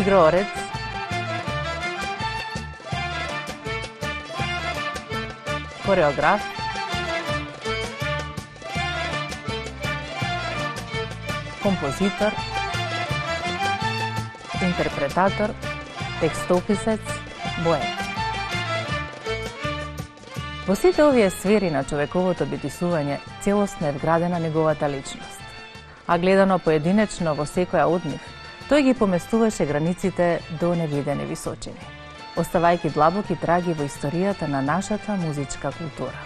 игроорец, хореограф, композитор, интерпретатор, текстописец, поет. Во сите овие сфери на човековото битисување целосно е вградена неговата личност. А гледано поединечно во секоја од нив, тој ги поместуваше границите до невидени височини, оставајќи длабоки траги во историјата на нашата музичка култура.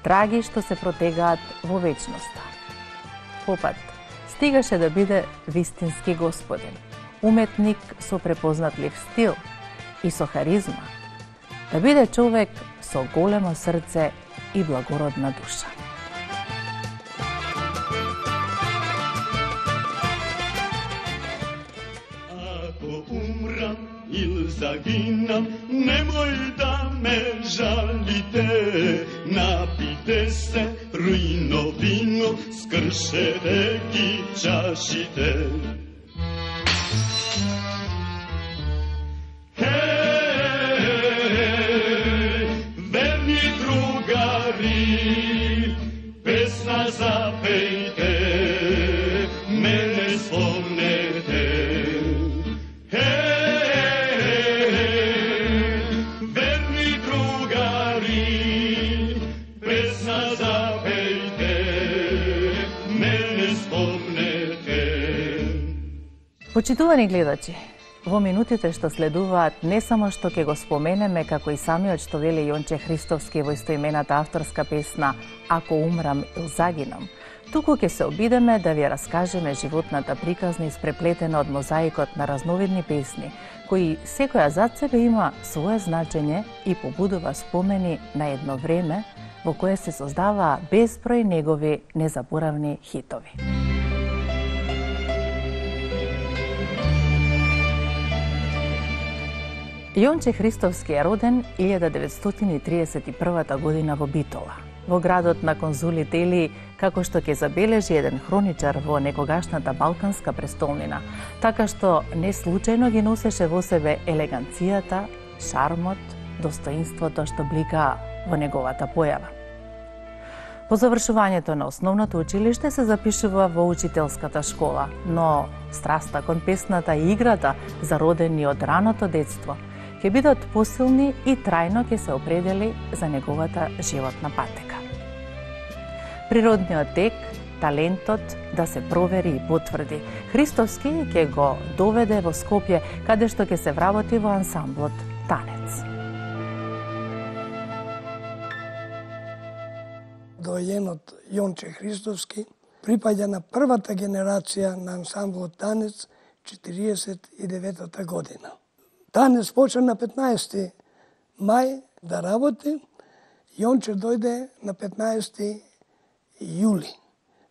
Траги што се протегаат во вечноста. Попат стигаше да биде вистински господин, уметник со препознатлив стил и со харизма, да биде човек со големо срце и благородна душа. Ако умрам или загинам, немој да ме жалите. Напите се руино вино, скршете ги чашите. Песна запејте, мене спомнете. Верни другари, песна запејте, мене спомнете. Почитувани гледачи, во минутите што следуваат, не само што ќе го споменеме, како и самиот што вели Јонче Христовски во истоимената авторска песна Ако умрам или загинам, туку ќе се обидеме да ви раскажеме животната приказна испреплетена од мозаикот на разновидни песни, кои секоја зад себе има свое значење и побудува спомени на едно време во кое се создаваа безброј негови незаборавни хитови. Јонче Христовски е роден 1931 година во Битола, во градот на конзулите или, како што ќе забележи еден хроничар во некогашната балканска престолнина, така што не случајно ги носеше во себе елеганцијата, шармот, достоинството што блика во неговата појава. По завршувањето на основното училиште се запишува во учителската школа, но страста кон песната и играта, зародени од раното детство, ќе бидат посилни и трајно ќе се определи за неговата животна патека. Природниот тек, талентот да се провери и потврди, Христовски ќе го доведе во Скопје, каде што ќе се вработи во ансамблот Танец. Доајенот Јонче Христовски припаѓа на првата генерација на ансамблот Танец 49 година. Танец почна на 15 мај да работи, Јонче дојде на 15 јули.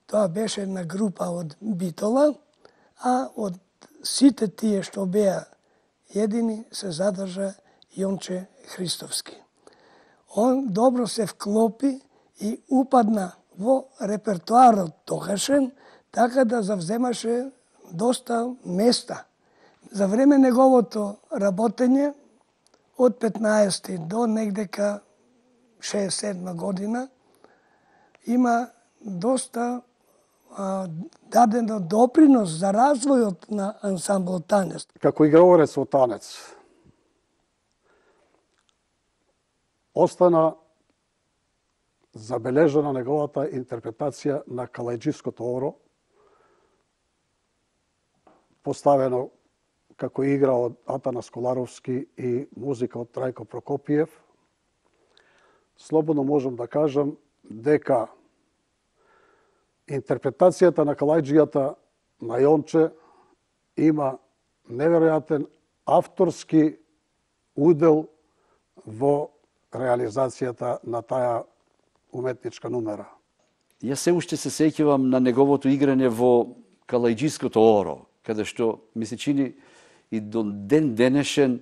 Тоа беше една група од Битола, а од сите тие што беа едини се задржа Јонче Христовски. Он добро се вклопи и упадна во репертуарот тогашен, така да завземаше доста места. За време неговото работење, од 15 до негдека 67 година, има доста дадено допринос за развојот на ансамблот Танец. Како играорец во Танец, остана забележана неговата интерпретација на Калајџиското оро, поставено како игра од Атанас Коларовски и музика од Трајко Прокопиев. Слободно можам да кажам дека интерпретацијата на Калајџијата на Јонче има неверојатен авторски удел во реализацијата на таа уметничка нумера. Јас се уште се сеќавам на неговото играње во Калајџиското оро, каде што ми се чини и до ден денешен,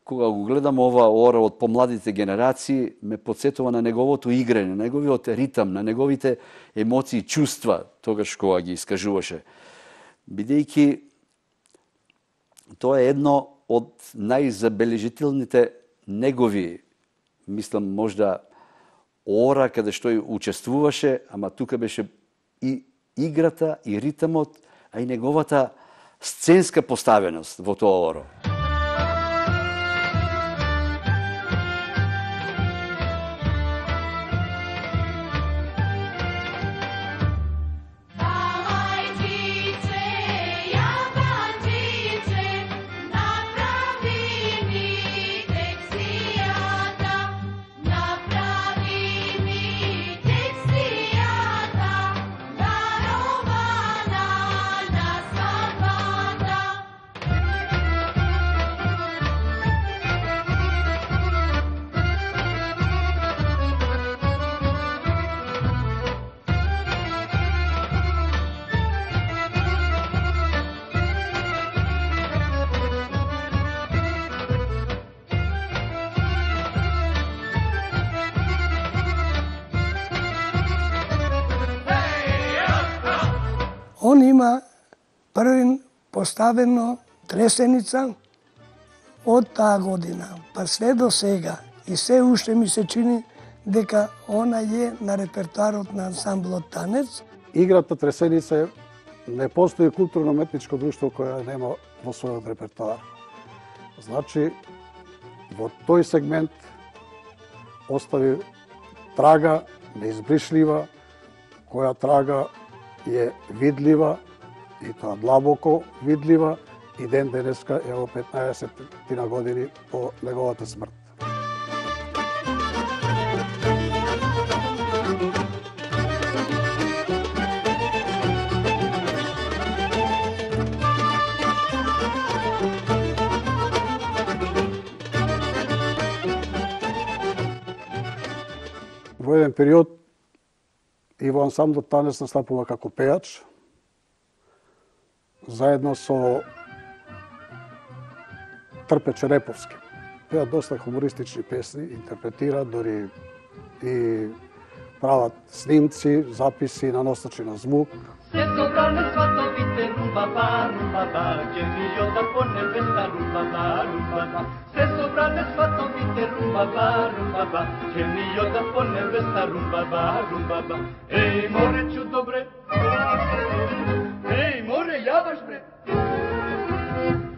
кога го гледам ова оро од помладите генерации, ме подсетува на неговото играње, на неговиот ритам, на неговите емоции, чувства, тогаш кога ги искажуваше. Бидејќи Тоа е едно од најзабележителните негови, мислам, можда ора каде што и учествуваше, ама тука беше и играта, и ритмот, а и неговата сценска поставеност во тоа оро. Он има првин поставено тресеница од таа година, па све до сега. И се уште ми се чини дека она е на репертуарот на ансамблот Танец. Играта тресеница не постои културно-уметничко друштво која нема во својот репертуар. Значи, во тој сегмент остави трага неизбришлива, која трага е видлива и тоа длабоко видлива и ден денеска е во 15 години по неговата смрт. Во еден период и во ансамблот Танец настапува како пеач, заедно со Трпе Череповски. Пеат доста хумористични песни, интерпретираат, дори и прават снимци, записи на носачи на звук. Се собране сватовите румбаба, румбаба, ѓемијота по небеса румбаба, румбаба. Се собране сватовите румбаба, румбаба, ѓемијота по небеса румбаба, румбаба. Еј, моречу добре, еј, море, јаваш бре,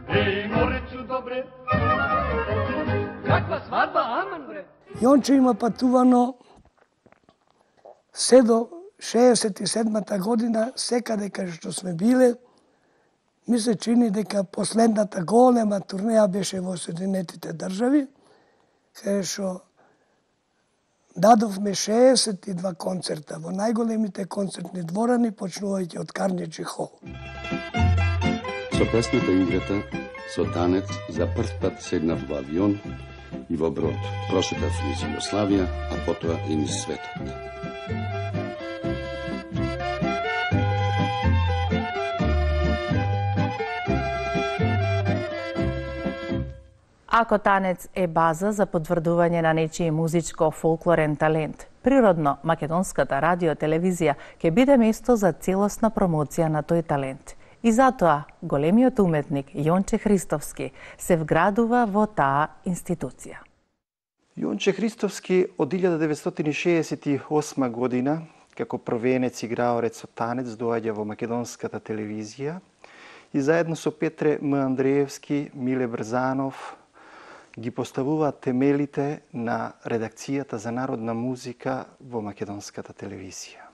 еј, моречу добре, каква свадба, аман бре. Јонче има патувано се до 67-та година, секаде каде што сме биле, ми се чини дека последната голема турнеја беше во Соединетите држави, каде што дадовме 62 концерта во најголемите концертни дворани, почнувајќи од Карнеджи хол. Со песната играта, со танец, за прв пат седнав во авион и во брод. Прошетав низ Југославија, а потоа и низ светот. Ако танец е база за потврдување на нечиј музичко-фолклорен талент, природно македонската радио-телевизија ќе биде место за целосна промоција на тој талент. И затоа големиот уметник Јонче Христовски се вградува во таа институција. Јонче Христовски од 1968 година, како првенец играорец со танец, доаѓа во македонската телевизија и заедно со Петре М. Андреевски, Миле Брзанов, ги поставуваат темелите на редакцијата за народна музика во македонската телевизија.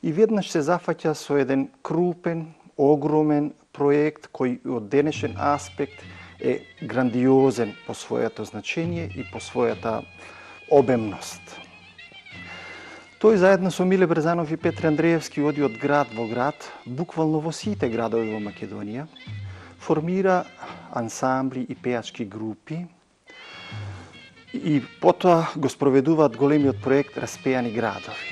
И веднаш се зафаќа со еден крупен, огромен проект кој од денешен аспект е грандиозен по своето значење и по својата обемност. Тој заедно со Миле Брзанов и Петре Андреевски оди од град во град, буквално во сите градови во Македонија, формира ансамбли и пеачки групи и потоа го спроведуваат големиот проект Распеани градови.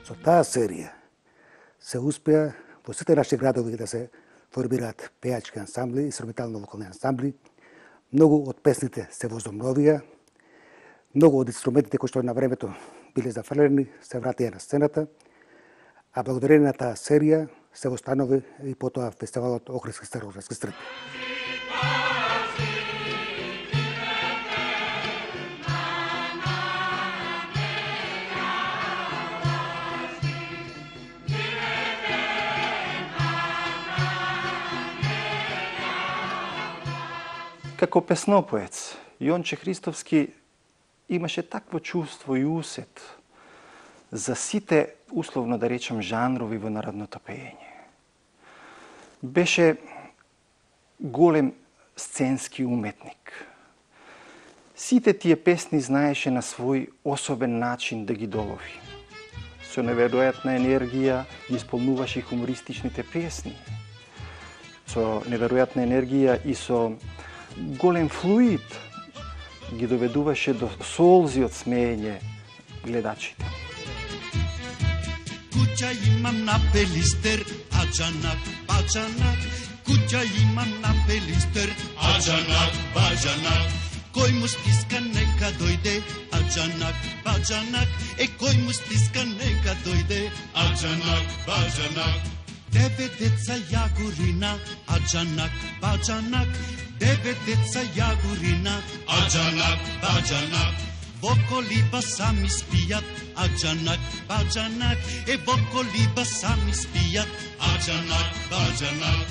Со таа серија се успеа во сите наши градови да се формираат пеачки ансамбли и инструментално-вокални ансамбли. Многу од песните се возобновија, многу од инструментите кои што на времето биле зафрлени, се вратија на сцената, а благодарение на таа серија се останови и потоа фестивалот Охридски старооградски стрит. Како песнопоец, Јонче Христовски имаше такво чувство и усет за сите, условно да речем, жанрови во народното пеење. Беше голем сценски уметник. Сите тие песни знаеше на свој особен начин да ги долови. Со неверојатна енергија ги исполнуваше хумористичните песни. Со неверојатна енергија и со голем флуид ги доведуваше до солзи од смеење гледачите. Куќа имам на Пелистер, аджанак, баджанак. Куќа имам на Пелистер, аджанак, баджанак. Кој му стиска нека дојде, аджанак, баджанак. Кој му стиска нека дојде, аджанак, баджанак. 9 деца јагурина, аджанак, баджанак. 9 деца јагурина, аджанак, баджанак. Во колиба сами спијат, аджанак, баджанак. Во колиба сами спијат, аджанак, баджанак.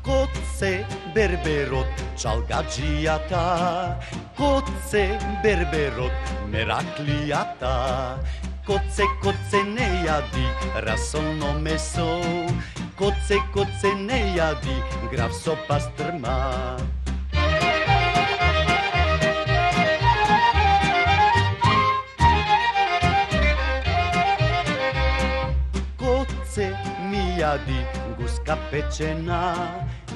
Коце берберот, чалгаджијата. Коце берберот, мераклијата. Коце, коце не јади расолно месо. Коце, коце не јади граф со пастрма. Коце ми јади гуска печена.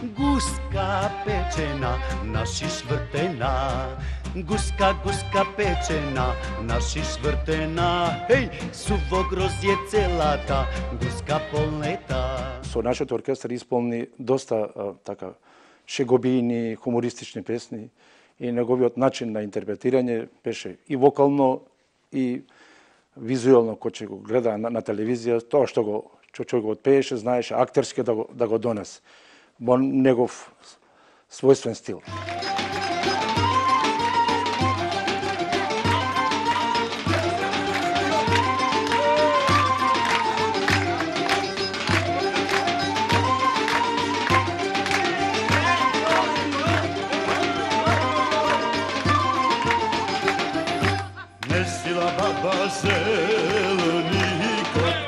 Гуска печена, наши швртена. Гуска, гуска печена, наши швртена. Хеј, суво грозје целата, гуска полнета. Со нашиот оркестар исполни доста така шеговини, хумористични песни и неговиот начин на интерпретирање беше и вокално и визуелно, кој ќе го гледа на телевизија, тоа што го отпееше, знаеше актерски да го донесе во негов својствен стил. Месила баба зелени кот,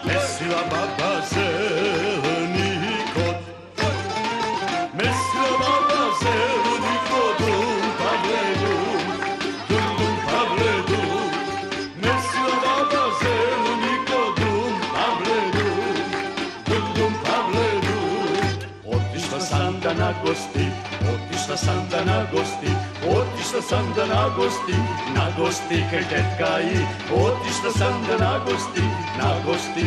месила баба зелени кот, месила баба зелени кот, дум павледу, месила баба зелени кот, дум павледу. Отишла Санда на гости, отишла Санда на гости. Отишла Санда на гости кај тетка и. Отишла Санда на гости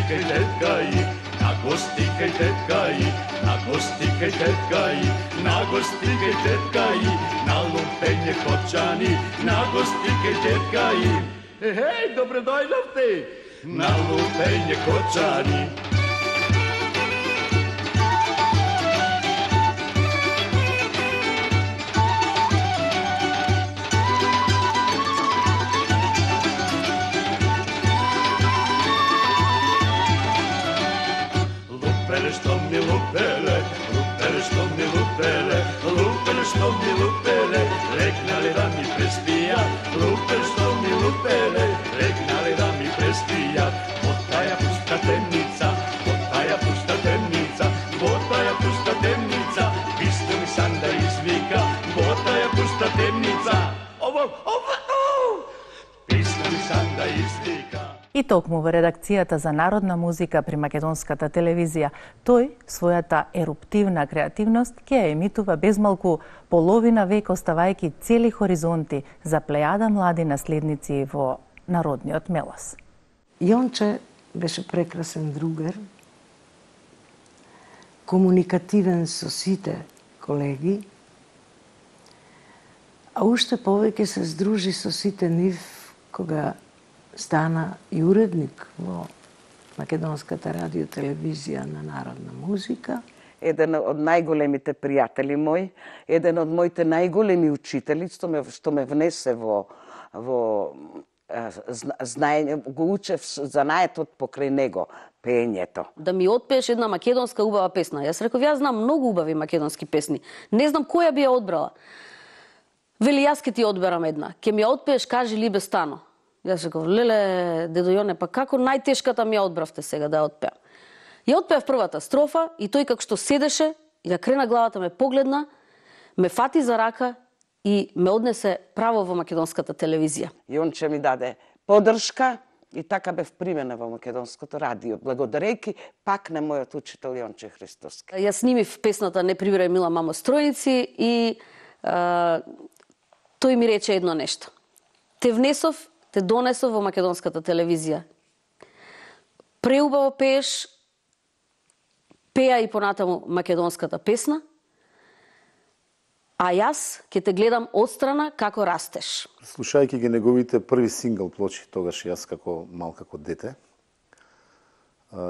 кај тетка и. На гости кај тетка и. На гости кај тетка и. На гости кај тетка и. На лупење кочани. На гости кај тетка и. Хеј, добре дојдовте. На лупење кочани. Што ми лупеле, лупеле, што ми лупеле, лупеле, што ми лупеле, рекнале да ми преспија. Лупеле, што ми лупеле, рекнале да ми преспија. Во таја пуста темница, во таја пуста темница, во таја пуста темница, писто ми Санда извика. Во таја пуста темница, писто ми Санда извика. И токму во редакцијата за народна музика при македонската телевизија, тој својата еруптивна креативност ќе ја емитува безмалку половина век, оставајќи цели хоризонти за плејада млади наследници во народниот мелос. Јонче беше прекрасен другар, комуникативен со сите колеги, а уште повеќе се здружи со сите нив кога стана и уредник во Македонската радиотелевизија на Народна музика. Еден од најголемите пријатели мој, еден од моите најголеми учители, што ме внесе во знаење, го учев занаетот покрај него, пеењето. Да ми отпееш една македонска убава песна. Јас реков, јас знам многу убави македонски песни. Не знам која би ја одбрала. Вели, јас ке ти одберам една. Ке ми ја отпееш, кажи Либе Стано. Јас реков, леле, дедо Јоне, па како најтешката ми ја одбравте сега да ја отпеам? Ја отпеав првата строфа и тој како што седеше и ја крена главата, ме погледна, ме фати за рака и ме однесе право во Македонската телевизија. Јонче ми даде поддршка и така бев примена во Македонското радио, благодарејќи пак на мојот учител Јонче Христовски. Јас снимив песната Не прибирај мила мамо стројници и тој ми рече едно нешто. Те внесов, те донесов во Македонската телевизија. Преубаво пееш, пеа и понатаму македонската песна, а јас ќе те гледам отстрана како растеш. Слушајќи ги неговите први сингл плочи, тогаш јас како малко дете,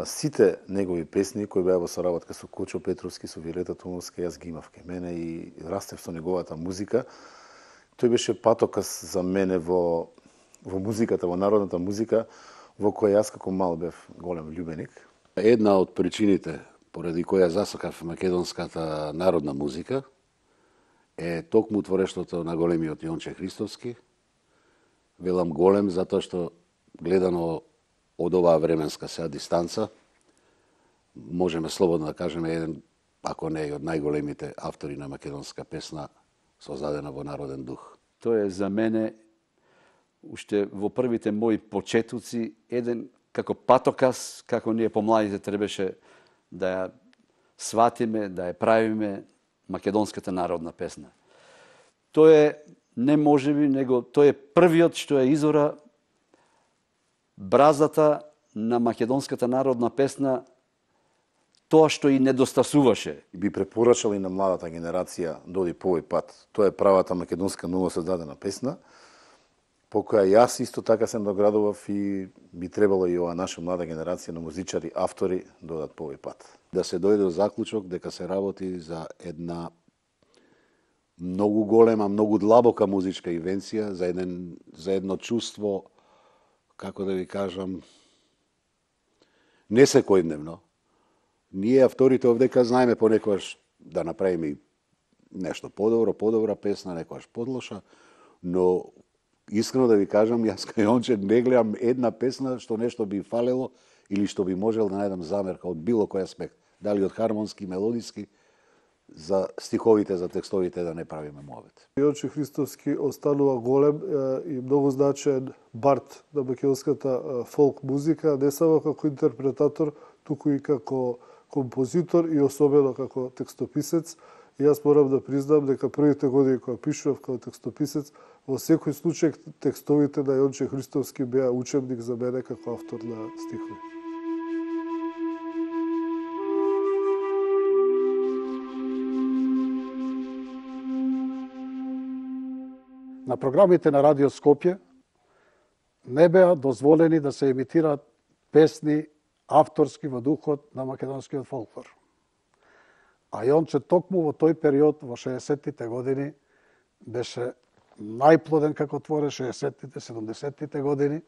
сите негови песни кои беа во соработка со Кочо Петровски, со Вилета Тумовска, јас ги имав кај мене и растев со неговата музика. Тој беше патокас за мене во музиката, во народната музика, во која јас како мал бев голем љубеник. Една од причините поради која засакав македонската народна музика е токму творештвото на големиот Јонче Христовски. Велам голем затоа што гледано од оваа временска сега дистанца, можеме слободно да кажеме еден, ако не и од најголемите автори на македонска песна создадена во народен дух. Тоа е за мене уште во првите мои почетоци еден како патокас, како ние помладите требаше да ја сватиме, да ја правиме македонската народна песна. Тоа е не можеби, него тој е првиот што е изора бразата на македонската народна песна, тоа што и недостасуваше. Би препорачал и на младата генерација да оди по овој пат. Тоа е правата македонска ново создадена песна, по која јас исто така се наградував и би требало и ова наша млада генерација на музичари, автори да одат по овој пат. Да се дојде до заклучок дека се работи за една многу голема, многу длабока музичка инвенција, за едно чувство, како да ви кажам, не секојдневно. Ние авторите овдека знаеме понекогаш да направиме нешто подобра песна, некогаш подлоша, но искрено да ви кажам, јас кај Јонче не гледам една песна што нешто би фалело или што би можел да најдам замерка од било кој аспект, дали од хармонски, мелодиски, за стиховите, за текстовите да не правиме муавет. Јонче Христовски останува голем и многу значаен бард на македонската фолк музика, не само како интерпретатор, туку и како композитор и особено како текстописец. И јас морам да признам дека првите години кога пишував како текстописец, во секој случај текстовите на Јонче Христовски беа учебник за мене како автор на стихови. На програмите на Радио Скопје не беа дозволени да се емитираат песни авторски во духот на македонскиот фолклор. А Јонче токму во тој период, во 60-тите години, беше најплоден како творец, 60-тите, 70-тите години.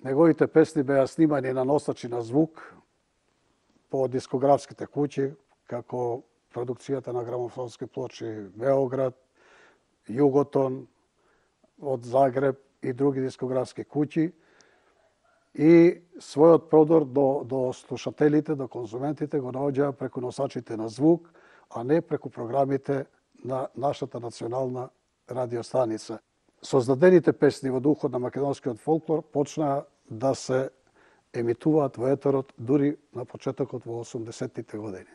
Неговите песни беа снимани на носачи на звук по дискографските куќи, како продукцијата на грамофонски плочи Београд, Југотон, од Загреб и други дискографски куќи. И својот продор до слушателите, до конзументите го наоѓаа преку носачите на звук, а не преку програмите на нашата национална радиостаница. Создадените песни во духот на македонскиот фолклор почнаа да се емитуваат во етерот дури на почетокот во 80-тите години.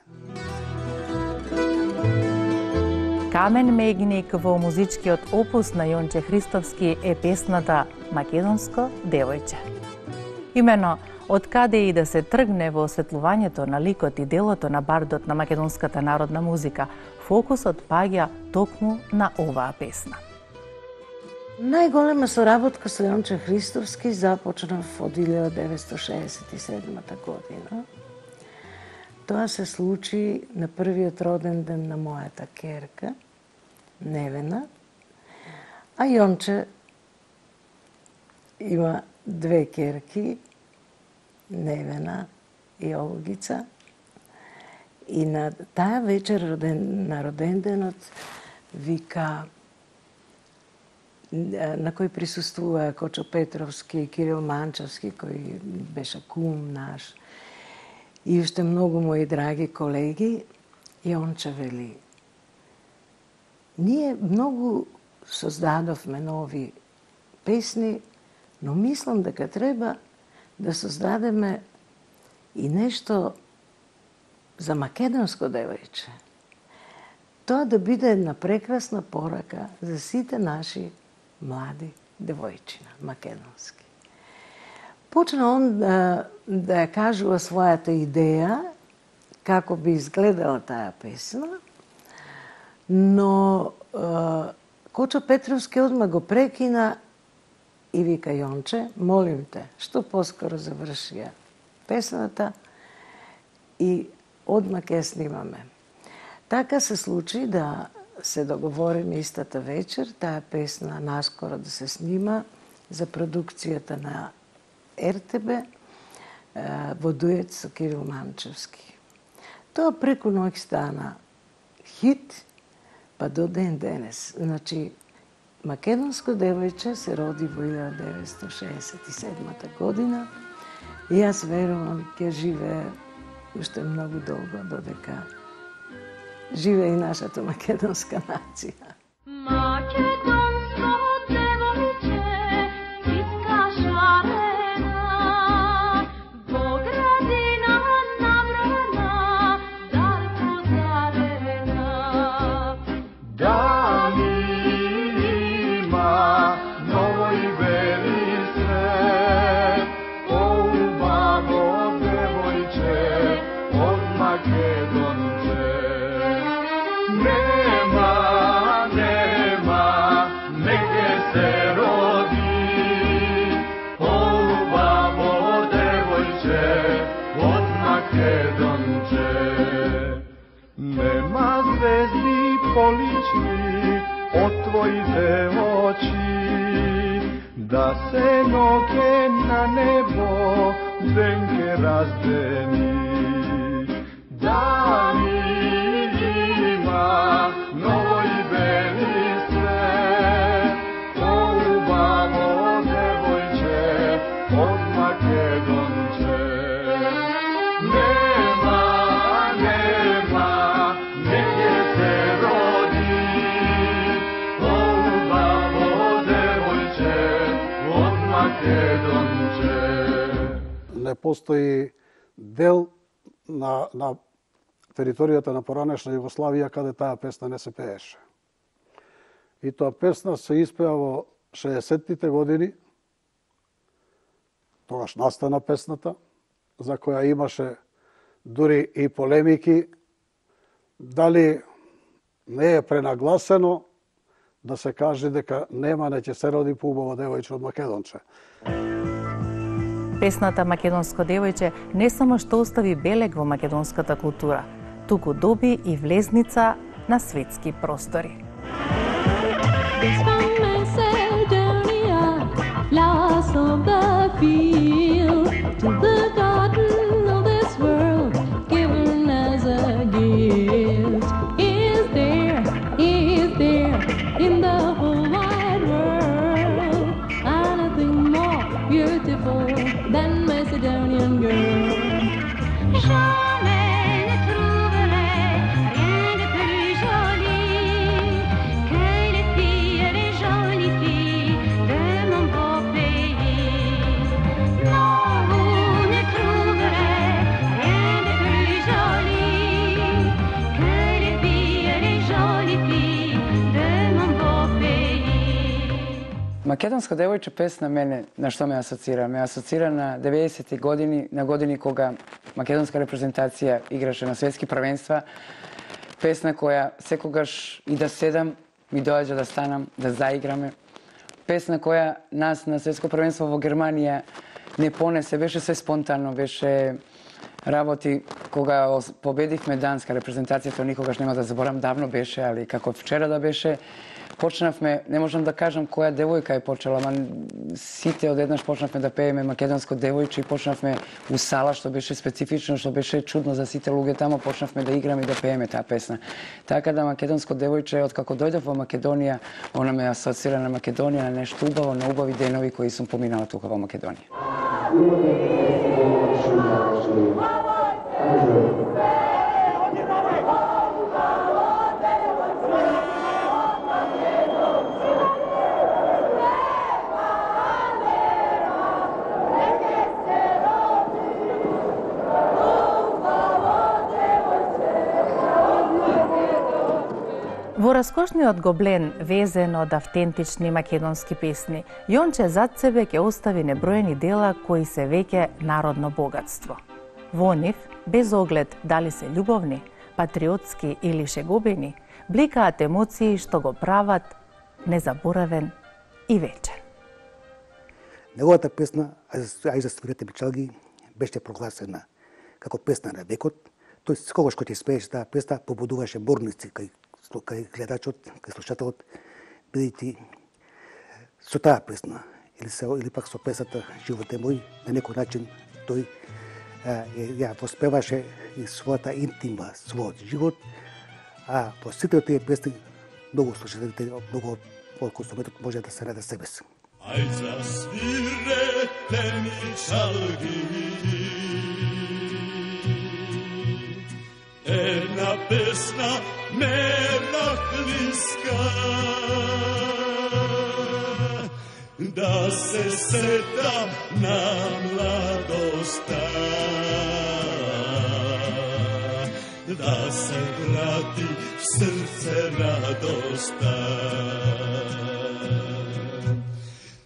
Камен мегник во музичкиот опус на Јонче Христовски е песната Македонско девојче. Имено Од каде и да се тргне во осветлувањето на ликот и делото на бардот на македонската народна музика, фокусот паѓа токму на оваа песна. Најголема соработка со Јонче Христовски започнав од 1967 година. Тоа се случи на првиот роден ден на мојата керка, Невена, а Јонче има две керки, Невена и Олгица. И на таа вечер на роденденот вика, на кој присуствува Кочо Петровски и Кирил Манчевски, кој беше кум наш, и уште многу мои драги колеги, Јонче вели, ние многу создадовме нови песни, но мислам дека треба да создадеме и нешто за македонско девојче. Тоа да биде една прекрасна порака за сите наши млади девојчина, македонски. Почна он да ја кажува својата идеја, како би изгледала таа песна, но Кочо Петровски одма го прекина и вика, Јонче, молим те, што поскоро заврши ја песната и одма ке ја снимаме. Така се случи да се договориме истата вечер, таа песна наскоро да се снима за продукцијата на РТБ во дует со Кирил Манчевски. Тоа преку ноќ стана хит, па до ден денес. Значи, македонско девојче се роди во 1967 година и јас верувам ќе живее уште многу долго додека живее и нашата македонска нација. Полични од твоите очи, да се ноќе на небо ден ке раздени. Дали има ново и бели свет, убаво девојче од Македонче. Не постои дел на територијата на поранешна Југославија каде таа песна не се пееше. И тоа песна се испеа во 60-тите години, тогаш настана песната, за која имаше дури и полемики, дали не е пренагласено да се каже дека нема не ќе се роди поубаво девојче од Македонче. Песната Македонско девојче не само што остави белег во македонската култура, туку доби и влезница на светски простори. Than Macedonian girl. Jamais ne trouverai rien de plus joli que les filles, les jolies filles de mon beau pays. Non, vous Македонска девојче песна мене на што ме асоцира? Ме асоцира на 90-ти години, на години кога македонска репрезентација играше на светски првенства. Песна која секогаш и да седам, ми доаѓа да станам, да заиграме. Песна која нас на светско првенство во Германија не понесе, беше се спонтанно, беше работи кога победивме данска репрезентација, тоа никогаш нема да заборам, давно беше, али како вчера да беше. Почнавме, не можам да кажам која девојка е почела, ама сите одеднаш почнавме да пееме македонско девојче и почнавме у сала, што беше специфично, што беше чудно за сите луѓе тамо, почнавме да играме и да пееме таа песна. Така да македонско девојче, откако дојдов во Македонија, она ме асоцира на Македонија, на нешто убаво, на убави денови кои сум поминала тука во Македонија. Во раскошниот гоблен, везен од автентични македонски песни, Јонче зад себе ќе остави неброени дела кои се веќе народно богатство. Во нив, без оглед дали се љубовни, патриотски или шегобени, бликаат емоции што го прават незаборавен и вечен. Неговата песна "Ај за свирете пчелги" беше прогласена како песна на векот. Тој секогаш кога ќе спееше таа песна побудуваше борници кај гледачот, кај слушателот, бидејќи со таа песна или пак со песната "Живот е мој", на некој начин тој ја воспеваше и својата интима, својот живот, а по сите тие песни многу слушателите, многу од консументот може да се најде себе си. Ај за свирете ми чалги, една песна мена хлиска, да се сетам на младоста, да се врати в срце радоста.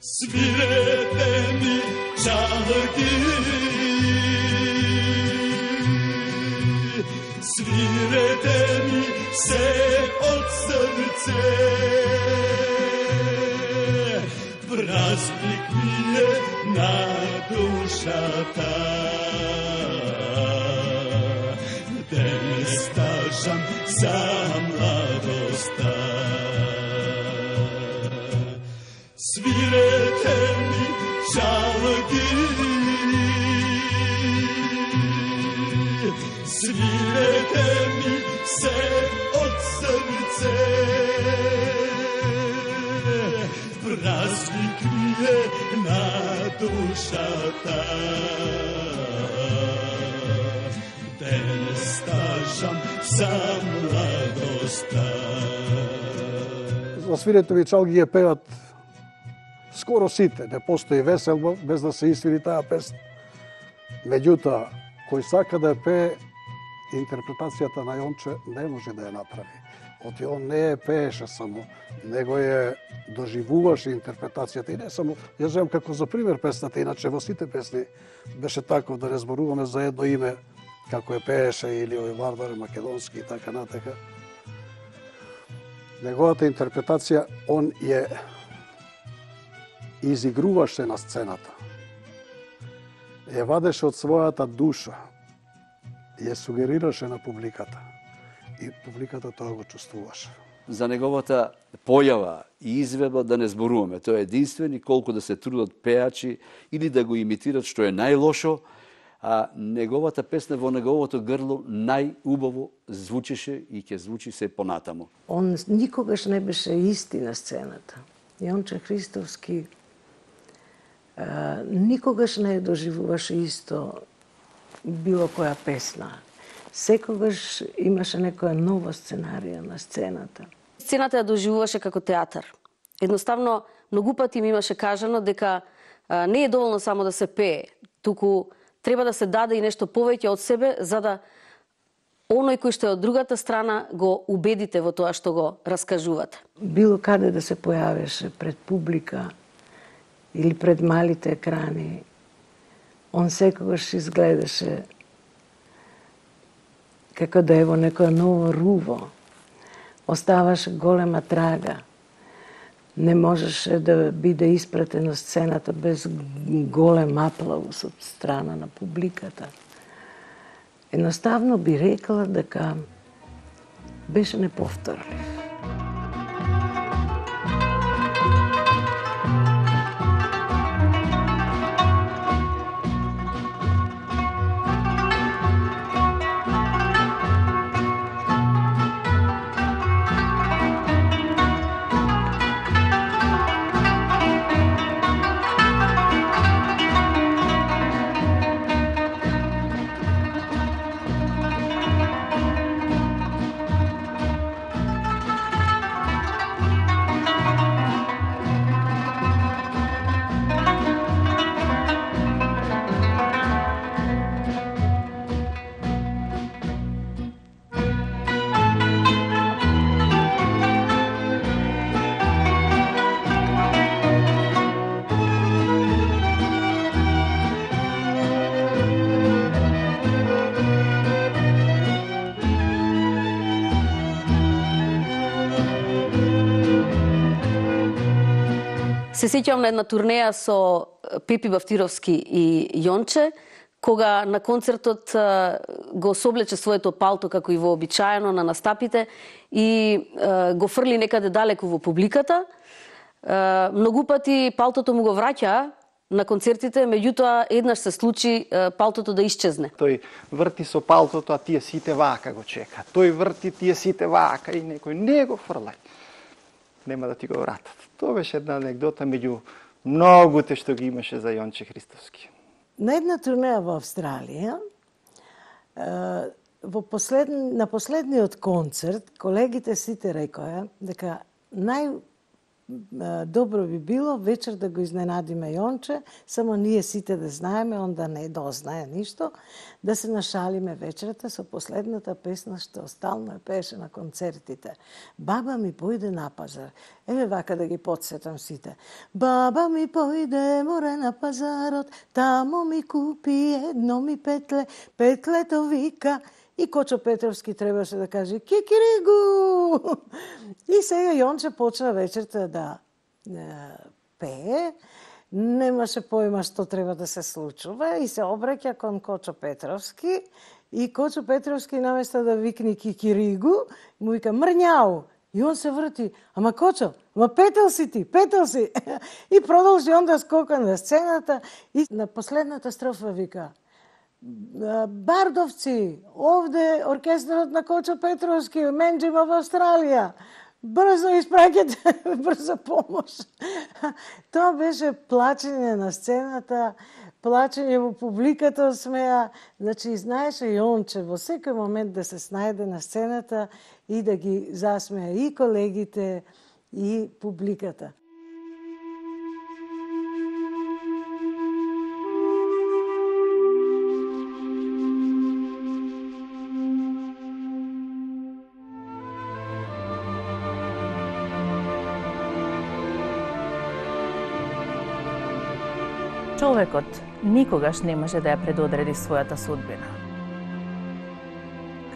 Свирете ми чалги, свирете ми се од срце, празник ми е на душата, де стажам за младоста. Свирете ми чалги, свирете ми се од срце, празник ми е на душата, де стажам за младоста. За свирете ми чалги ја пеат скоро сите, не постои веселба без да се исвири таа песна. Меѓутоа, кој сака да ја пее, интерпретацијата на Јонче не може да ја направи. Оти он не ја пееше само, него ја доживуваше интерпретацијата и не само, ја земам како за пример песната, иначе во сите песни беше тако, да не зборуваме за едно име, како ја пееше или овој Варвар македонски и така натака. Неговата интерпретација, он ја изигруваше на сцената. Ја вадеше од својата душа, ја сугерираше на публиката и публиката тоа го чувствуваше. За неговата појава и изведба да не зборуваме. Тој е единствен и колку да се трудат пеачи или да го имитират, што е најлошо, а неговата песна во неговото грло најубаво звучеше и ќе звучи се понатамо. Он никогаш не беше исти на сцената. Јонче Христовски никогаш не доживуваше исто било која песна. Секогаш имаше некоја нова сценарија на сцената. Сцената ја доживуваше како театар. Едноставно, многу пати ми имаше кажано дека не е доволно само да се пее, туку треба да се даде и нешто повеќе од себе, за да оној кој што е од другата страна го убедите во тоа што го раскажувате. Било каде да се појавеше пред публика, или пред малите екрани, он секогаш изгледаше како да е во некоја ново руво. Оставаше голема трага. Не можеше да биде испратен на сцената без голем аплаус од страна на публиката. Едноставно би рекла дека беше неповторлив. Се сеќавам на една турнеја со Пепи Бавтировски и Јонче, кога на концертот го соблече своето палто како и вообичаено на настапите и го фрли некаде далеку во публиката. Многу пати палтото му го враќа на концертите, меѓутоа еднаш се случи палтото да исчезне. Тој врти со палтото, а тие сите вака го чека. Тој врти, тие сите вака и некој не го фрлај. Нема да ти го вратат. Тоа беше една анегдота меѓу многуте што ги имаше за Јонче Христовски. На една турнеја во Австралија, на последниот концерт, колегите сите рекоа дека добро би било вечер да го изненадиме Јонче, само ние сите да знаеме, он да не дознае ништо, да се нашалиме вечерата со последната песна што стално е пееше на концертите. Баба ми појде на пазар. Еве вака да ги подсетам сите. Баба ми појде море на пазарот, тамо ми купи едно ми петле, петлето вика. И Кочо Петровски требаше да каже кикиригу. И сега Јонче почна вечерта да пее. Немаше појма што треба да се случува и се обраќа кон Кочо Петровски. И Кочо Петровски наместо да викне кикиригу, му вика мрњау. И он се врти. Ама Кочо, ама петел си ти, петел си. И продолжи он да скока на сцената и на последната строфа вика Бардовци, овде оркестарот на Кочо Петровски, менџима во Австралија. Брзо испраќате, брзо помош. Тоа беше плачење на сцената, плачење во публиката од смеа. Значи, знаеше Јонче во секој момент да се снајде на сцената и да ги засмеа и колегите, и публиката. Човекот никогаш не може да ја предодреди својата судбина.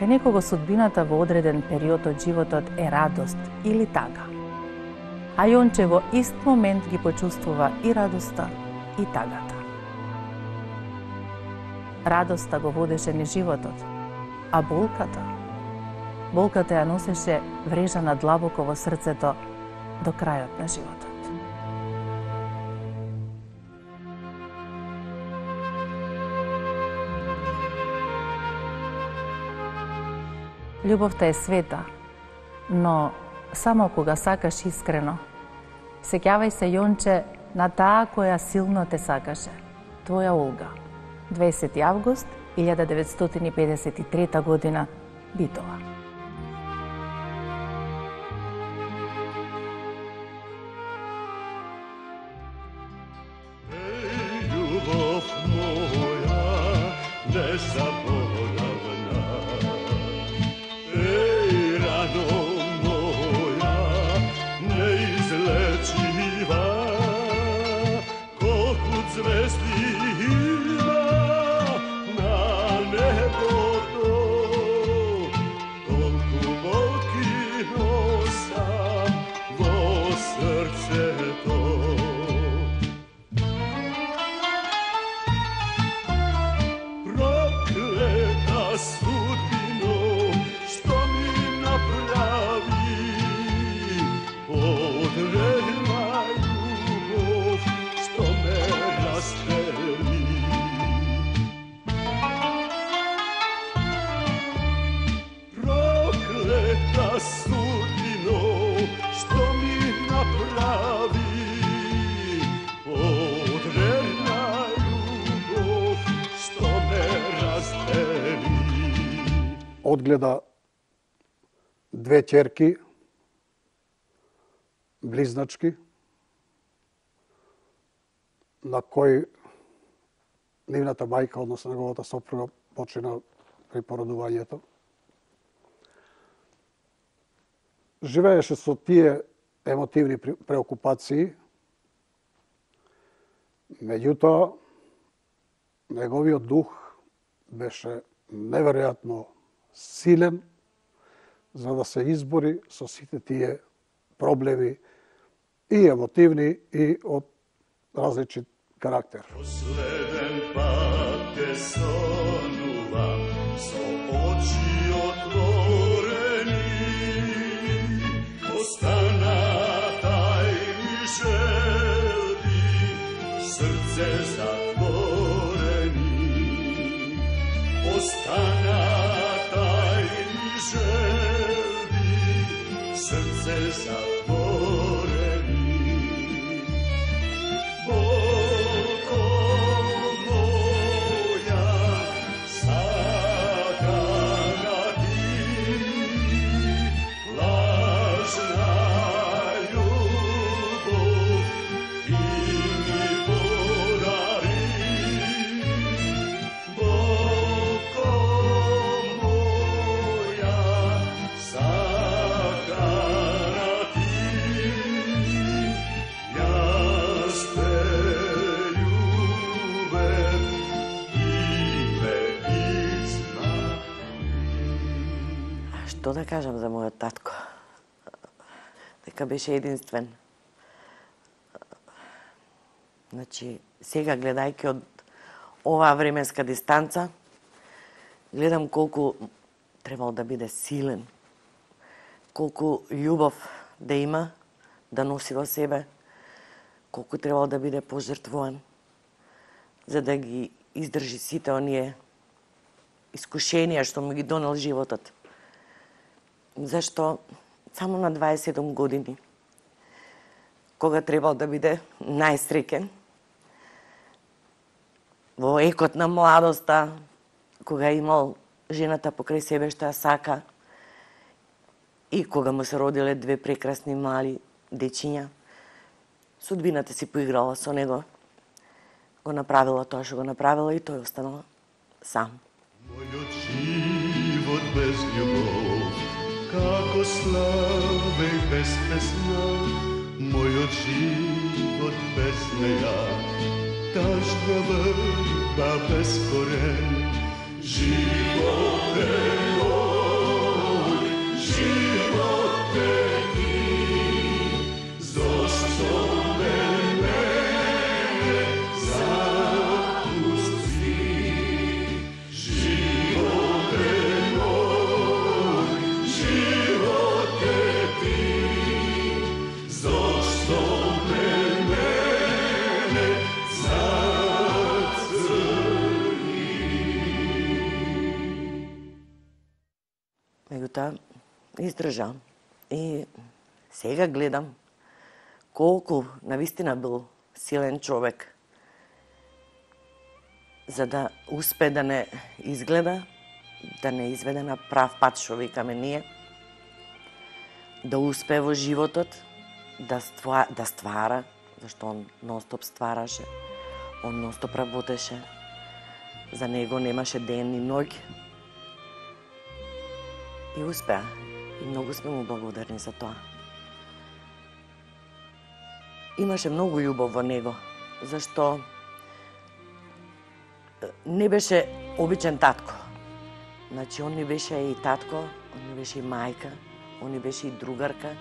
Кај некого судбината во одреден период од животот е радост или тага. А Јонче во ист момент ги почувствува и радоста, и тагата. Радоста го водеше низ животот, а болката ја носеше врежана длабоко во срцето до крајот на животот. Љубовта е света, но само кога сакаш искрено. Сеќавај се, Јонче, на таа која силно те сакаше. Твоја Олга. 20 август 1953 година, Битола. Љубов моја, не заборавна. Рано моја, неизлечива, одгледа две ќерки, близначки, на кој нивната мајка, односно неговата сопруга, почина при породувањето. Живееше со тие емотивни преокупации, меѓутоа, неговиот дух беше неверојатно силен за да се избори со сите тие проблеми и емотивни и од различит карактер. Последен пат те сонувам со очи отворени, остана тајни желби, срце затворени. Остана тајни желби, срце затворени. Бого моја, сакана ти, лажна љубов ти ми подари. Бого моја, сакана ти, јас те љубев и ме измами. Што да кажам за мојот татко? Дека беше единствен. Значи, сега гледајќи од оваа временска дистанца, гледам колку требал да биде силен, колку љубов да има, да носи во себе, колку требал да биде пожртвуван, за да ги издржи сите оние искушенија што му ги донел животот. Зашто само на 27 години, кога требал да биде најсреќен, во екот на младоста, кога имал жената покрај себе што ја сака и кога му се родиле две прекрасни мали дечиња, судбината си поиграла со него, го направила тоа што го направила и тој останал сам. Мојот живот без љубов, како славе без песна, мојот живот без неја, тажна врба без корен. Живот е мој, живот е ти, зошто мене запусти? Живот е мој, живот е ти, зошто мене зацрни? Меѓутоа, издржа. И сега гледам колку навистина бил силен човек за да успе да не изгледа, да не изведе на прав пат што викаме ние, да успе во животот, да ствара, зашто он нон-стоп ствараше, он нон-стоп работеше, за него немаше ден и ноќ. И успеа. И многу сме му благодарни за тоа. Имаше многу љубов во него, зашто не беше обичен татко. Значи, он не беше и татко, он не беше и мајка, он не беше и другарка,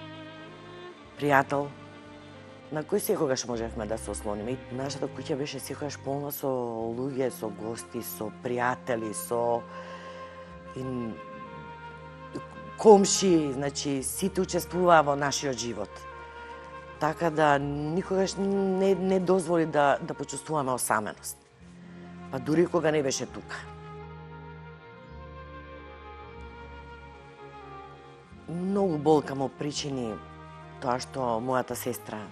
пријател, на кој секогаш можевме да се ослониме. И нашата куќа беше секогаш полна со луѓе, со гости, со пријатели, со комши, значи сите учествуваа во нашиот живот. Така да никогаш не дозволи да почувствуваме осаменост. Па дури кога не беше тука. Многу болка му причини тоа што мојата сестра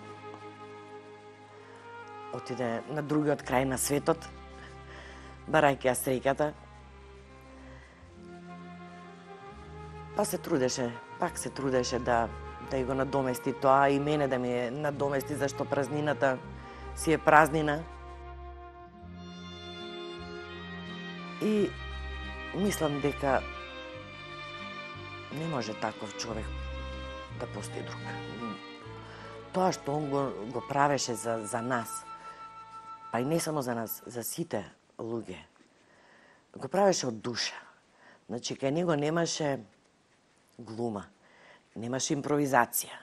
отиде на другиот крај на светот, барајќи ја среќата. Па се трудеше, пак се трудеше да го надомести тоа и мене да ми надомести, зашто празнината си е празнина. И мислам дека не може таков човек да постои друг. Тоа што он го правеше за нас, па и не само за нас, за сите луѓе, го правеше од душа. Значи, кај него немаше глума, немаше импровизација.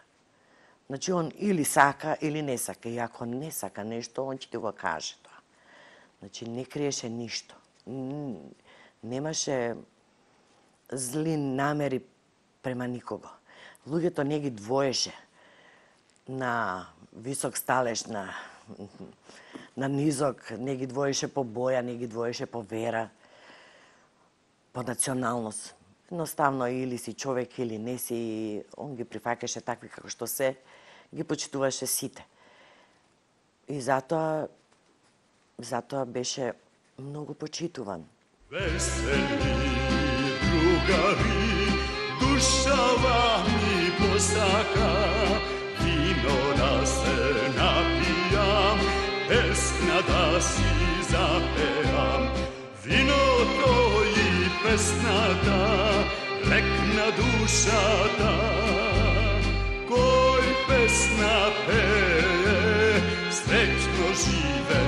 Значи, он или сака, или не сака. И ако не сака нешто, он ќе ти го каже тоа. Значи, не криеше ништо. Немаше зли намери према никого. Луѓето не ги двоеше на висок сталеж, на низок, не ги двоеше по боја, не ги двоеше по вера, по националност. Едноставно, или си човек, или не си, он ги прифаќаше такви како што се, ги почитуваше сите. И затоа беше многу почитуван. Весели другари, душава ми посака, вино да се напијам, песна да си запеам. Виното и песната, лек на душата, кој песна пее, среќно живе.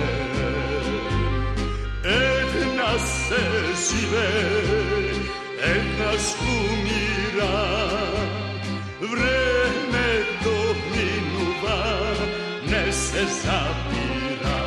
Една се живе, еднаш умира, времето минува, не се запира.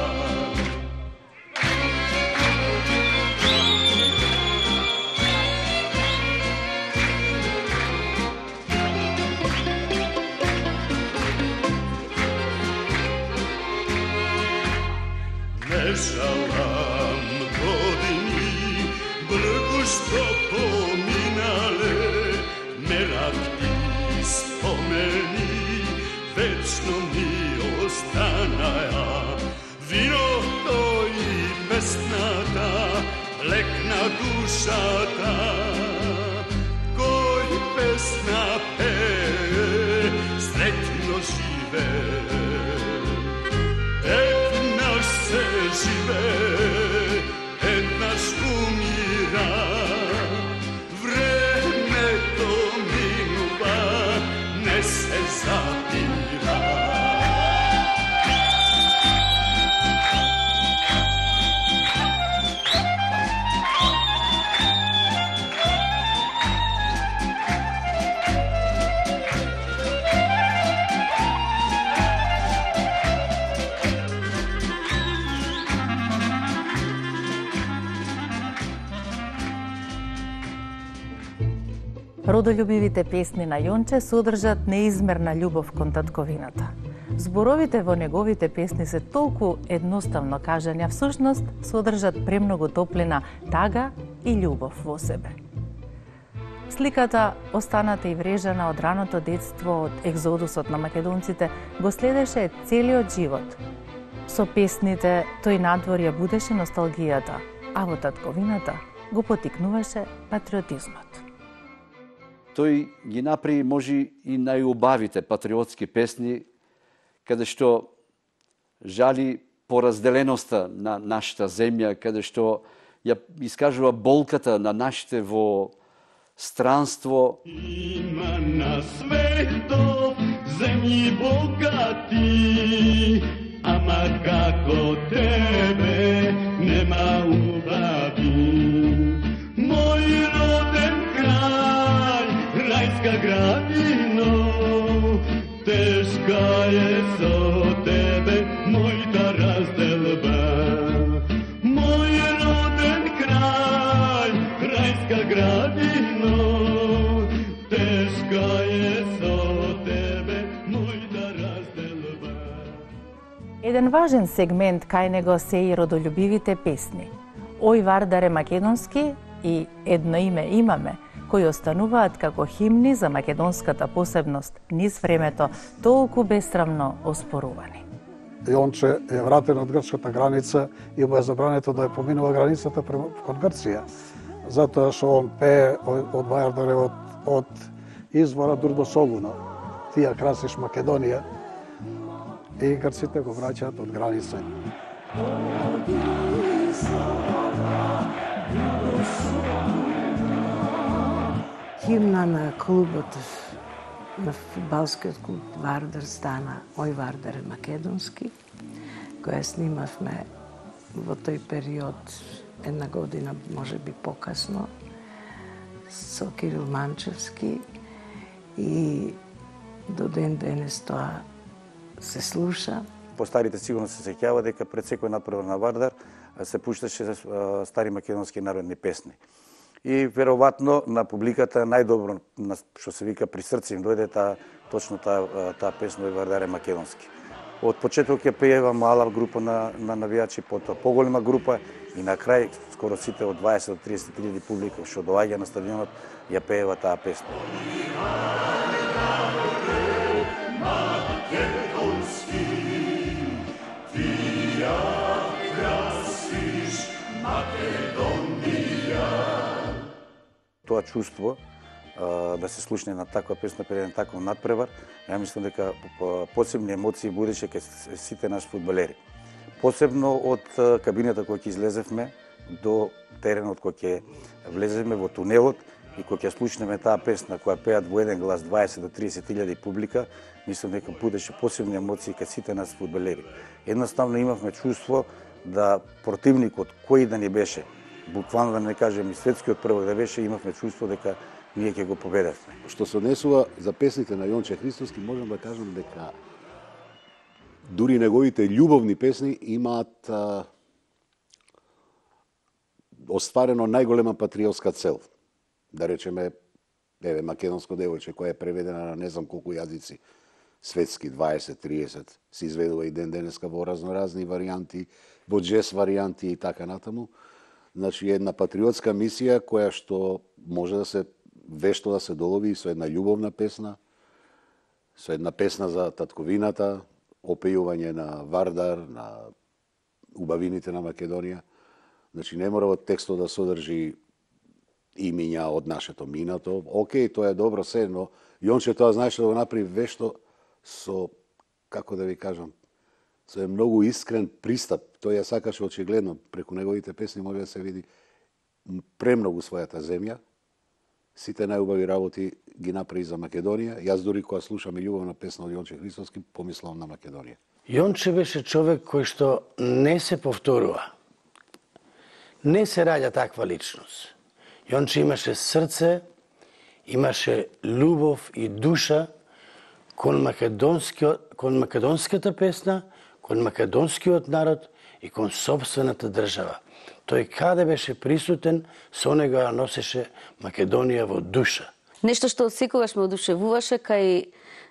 Не жалам години, бргу што поминале, меракти спомени, вечно ми останаја. Виното и песната, лек на душата, кој песна пее, среќно живе. Еднаш се живе, еднаш умира, времето минува, не се запира. Родолюбивите песни на Јонче содржат неизмерна љубов кон татковината. Зборовите во неговите песни се толку едноставно кажани, а всушност содржат премногу топлина, тага и љубов во себе. Сликата, останата и врежана од раното детство, од екзодусот на македонците, го следеше целиот живот. Со песните тој надвор ја будеше носталгијата, а во татковината го потикнуваше патриотизмот. Тој ги направи може и најубавите патриотски песни, каде што жали поразделеноста на нашата земја, каде што ја искажува болката на нашите во странство. Има на светот земји богати, ама како тебе нема убави. Мој роден крај, рајска градино, тешка е со тебе мојта разделба. Мој роден крај, рајска градино, тешка е со тебе мојта разделба. Еден важен сегмент кај него се и родолюбивите песни. Ој Вардаре македонски и Едно име имаме, кои остануваат како химни за македонската посебност низ времето, толку бесрамно оспорувани. Јонче е вратен од грчката граница и му е забрането да ја поминува границата кон Грција. Затоа што он пее од Вардаревот од извора Дурдосогуна. Тија красиш Македонија и грците го враќаат од граница. Химна на клубот, на фудбалскиот клуб Вардар стана Ој Вардар е македонски, која снимавме во тој период, една година, може би покасно, со Кирил Манчевски, и до ден денес тоа се слуша. Постарите сигурно се сеќава дека пред секој надпревар на Вардар се пушташе стари македонски народни песни. И веројатно на публиката најдобро, што се вика, при срце им дојде точно таа песна Ој Вардар е македонски. Од почеток ја пеева мала група на навијачи, потоа поголема група и на крај скоро сите од 20 до 30 илјади публика што доаѓа на стадионот ја пеева таа песна. Тоа чувство да се слушне на таква песна пред еден таков надпревар, ја мислам дека посебни емоции будеше кај сите наши фудбалери. Посебно од кабината која ќе излезевме до теренот кој ќе влеземе во тунелот и кој ќе слушнеме таа песна која пеат во еден глас 20 до 30 илјади публика, мислам дека будеше посебни емоции кај сите наши фудбалери. Едноставно имавме чувство да противникот кој да ни беше, буквално да не кажем и светскиот првак да беше, имавме чувство дека ние ќе го победевме. Што се однесува за песните на Јонче Христоски, можам да кажам дека дури неговите љубовни песни имаат остварено најголема патриотска цел. Да речеме, македонско девојче која е преведена на не знам колку јазици, светски 20-30, се изведува и ден денеска во разноразни варијанти, во джез варијанти и така натаму. Значи, една патриотска мисија која што може да се вешто да се долови со една љубовна песна, со една песна за татковината, опејување на Вардар, на убавините на Македонија. Значи, не мора од текстот да содржи имиња од нашето минато. Океј, тоа е добро се, но Јонче тоа знаеше да го направи вешто со, како да ви кажам, со многу искрен пристап. Тој ја сакаше очигледно, преку неговите песни може да се види премногу својата земја. Сите најубави работи ги направи за Македонија. Јас дури кога слушам и љубовна песна од Јонче Христоски, помислам на Македонија. Јонче беше човек кој што не се повторува. Не се раѓа таква личност. Јонче имаше срце, имаше љубов и душа кон македонската песна, кон македонскиот народ и кон собствената држава. Тој каде беше присутен, со него ја носеше Македонија во душа. Нешто што секогаш ме одушевуваше кај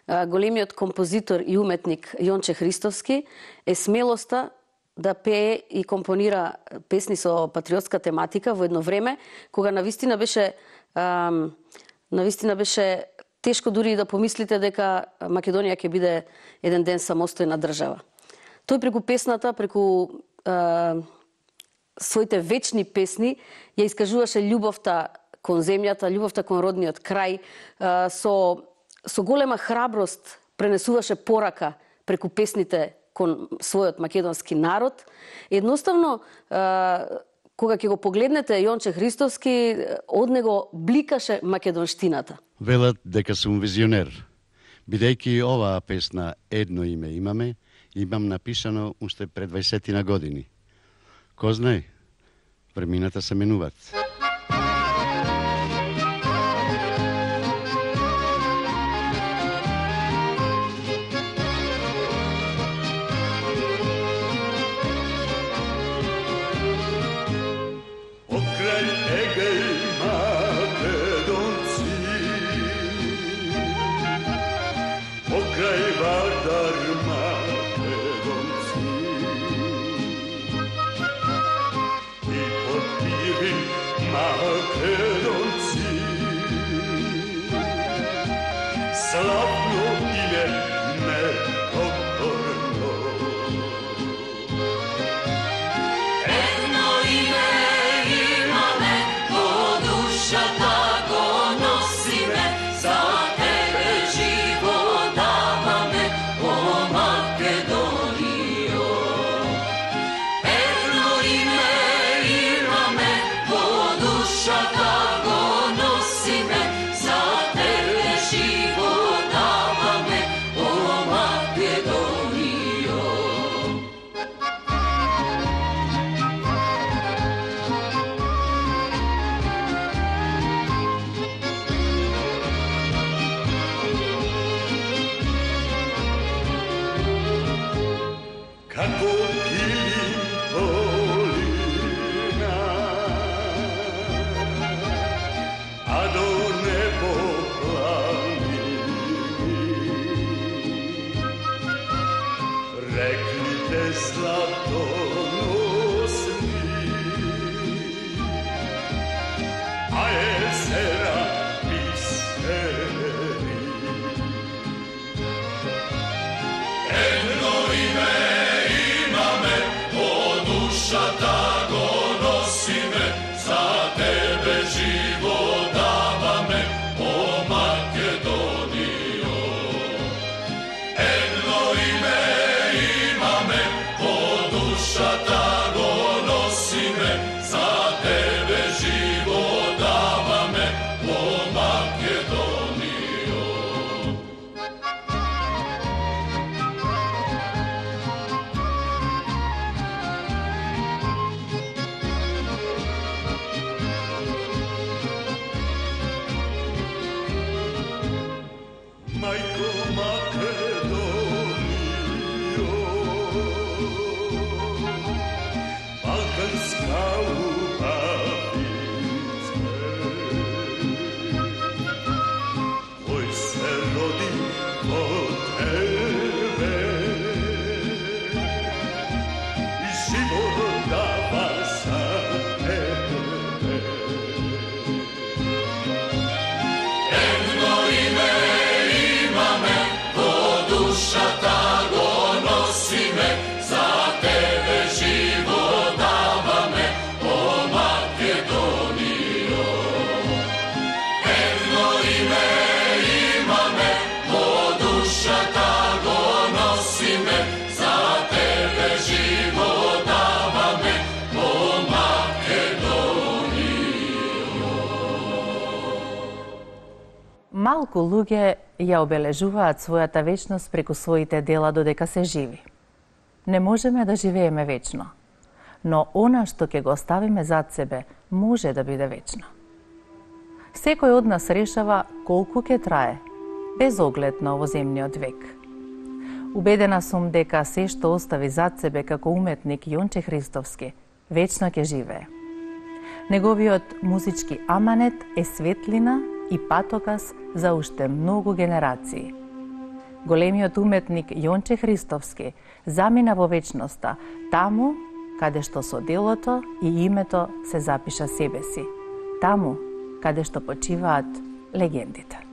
големиот композитор и уметник Јонче Христоски е смелоста да пее и компонира песни со патриотска тематика во едно време кога навистина беше тешко дури и да помислите дека Македонија ќе биде еден ден самостојна држава. Тој преку песната, преку своите вечни песни ја искажуваше љубовта кон земјата, љубовта кон родниот крај, со голема храброст пренесуваше порака преку песните кон својот македонски народ. Едноставно, кога ќе го погледнете Јонче Христоски, од него бликаше македонштината. Велат дека сум визионер. Бидејќи оваа песна едно име имам напишано уште пред 20 години. Ко знае, времината се менуваат. Едно име имаме, во душата го носиме. како килим долина, а до небо планини. Реклите златоносни, а езера бисери. Едно име имаме, по душата го носиме, за тебе живот даваме, о Македонијо. Едно име имаме, по душата го носиме, за тебе живот даваме, о Македонијо. Мајко Македонијо, балканска убавице, кој се роди од тебе и живот дава за тебе. Едно име имаме, по душата го носиме, за тебе живот даваме, о Македонијо. Едно име имаме, по душата го носиме, за тебе живот даваме, о Македонијо. Малку луѓе ја обележуваат својата вечност преку своите дела додека се живи. Не можеме да живееме вечно, но она што ќе го оставиме зад себе може да биде вечно. Секој од нас решава колку ќе трае, без оглед на овоземниот век. Убедена сум дека се што остави зад себе како уметник Јонче Христовски вечно ќе живее. Неговиот музички аманет е светлина и патоказ за уште многу генерации. Големиот уметник Јонче Христовски замина во вечноста, таму каде што со делото и името се запиша себе си, таму каде што почиваат легендите.